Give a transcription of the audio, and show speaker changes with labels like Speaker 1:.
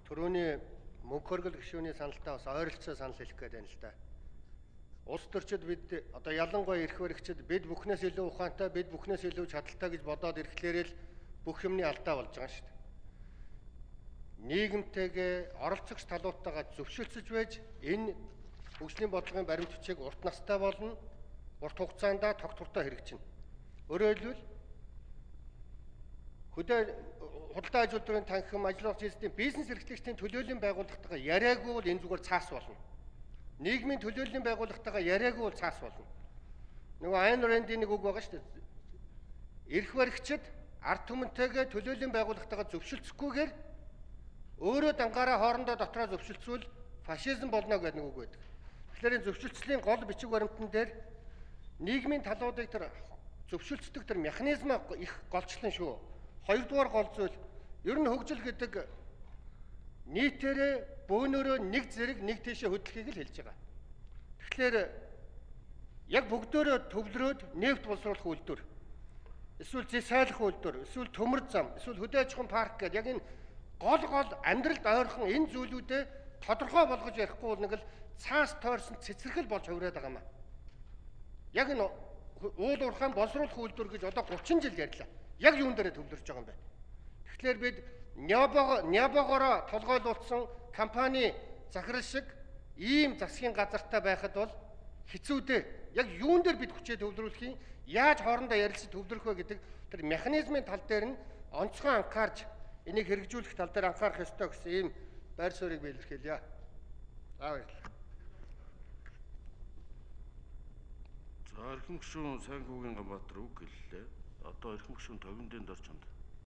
Speaker 1: Төрөний мөнгө хөргөл гишүүний саналтай бас ойролцоо санал хэлэх гээд байна л да. Улс төрчид бид одоо ялангуяа эрх баригчид бид бүхнээс илүү ухаантай, бид бүхнээс илүү чадaltaй гэж бодоод ирэхлээр л бүх юмны алдаа болж байгаа шүү дээ. Нийгэмтэйгээ оролцогч талуудтайгаа зөвшөөрлөж байж энэ хөгжлийн бодлогын баримт бичиг урт настай болно, урт хугацаанд тогтвортой хэрэгжинэ. Өөрөөр хэлбэл худалдаа аж үйлдвэрийн танхим, ажиллагч эзэдийн бизнес эрхлэгчдийн төлөөллийн байгууллагатайгаа яриаггүй бол энэ зүгээр цаас болно. Нийгмийн төлөөллийн байгууллагатайгаа яриаггүй бол цаас болно. Нөгөө Айн Рэндийн нэг үг байгаа шүү дээ. Эрх баригчид ард түмэнтэйгээ төлөөллийн байгууллагатайгаа зөвшөлдсөхгүйгээр өөрөө дангаараа хоорондоо дотроо зөвшөлдсвөл фашизм болно гэдэг нэг үг байдаг. Тэгэхээр энэ зөвшөлтслийн гол бичиг баримтан дээр нийгмийн талуудыг тэр зөвшөлдсдөг тэр механизм их голчлон шүү. Хоёрдугаар гол зүйл ер нь хөгжил гэдэг нийтээрээ бөөнөрөө нэг зэрэг нэг тийшээ хөдлөхийг л хэлж байгаа. Тэгэхээр яг бүгдөө төвлөрөөд нефт боловсруулах үйлдвэр, эсвэл зэсайлах үйлдвэр, эсвэл төмөр зам, эсвэл хөдөө аж ахуйн парк гэдэг яг энэ гол амьдралд ойрхон энэ зүйлүүдэд тодорхой болгож ярихгүй бол нэг л цаас тойрсон цэцэрлэг болж хувираад байгаа юм аа. Яг энэ уул уурхайн боловсруулах үйлдвэр гэж одоо 30 жил ярьлаа. Яг юун дээр төвлөрч байгаа юм бэ? Тэгэхээр бид нябогоороо толгойлуулсан компани захирал шиг ийм засгийн газартай байхад бол хэцүү дээ. Яг юун дээр бид хүчээ төвлөрүүлэх юм? Яаж хоорондоо ярилцаж төвлөрөх вэ гэдэг тэр механизмын тал дээр нь онцгой анхаарч энийг хэрэгжүүлэх тал дээр анхаарах ёстой гэсэн ийм байр суурийг би илэрхийлье. Баярлалаа.
Speaker 2: За эрхэм гишүүн Сайн Хүүгийн Ганбаатар үг хэллээ. Одоо эрхэм гишүүн Товиндын Доржонд